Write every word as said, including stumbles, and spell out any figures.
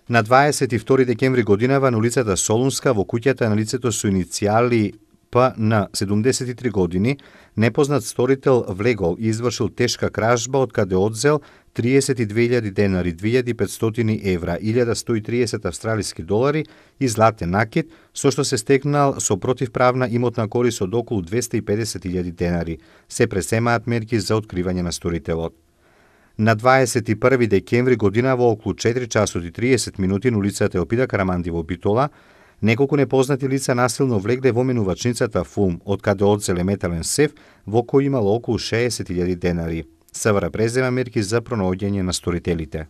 На дваесет и втори декември годинава на улицата Солунска во куќата на лицето со иницијали П на седумдесет и три години, непознат сторител влегол и извршил тешка кражба од каде одзел триесет и две илјади денари, две илјади и петстотини евра, илјада сто и триесет австралиски долари и златен накид, со што се стекнал со противправна имотна корис од околу двесте и педесет илјади денари. Се пресемаат мерки за откривање на сторителот. На дваесет и први декември година во околу четири часот и триесет минути на улицата Елпида Караманди во Битола, неколку непознати лица насилно влегле во менувачницата Фулм, од каде одзеле метален сеф во кој имало околу шеесет илјади денари. СВР презема мерки за пронаоѓање на сторителите.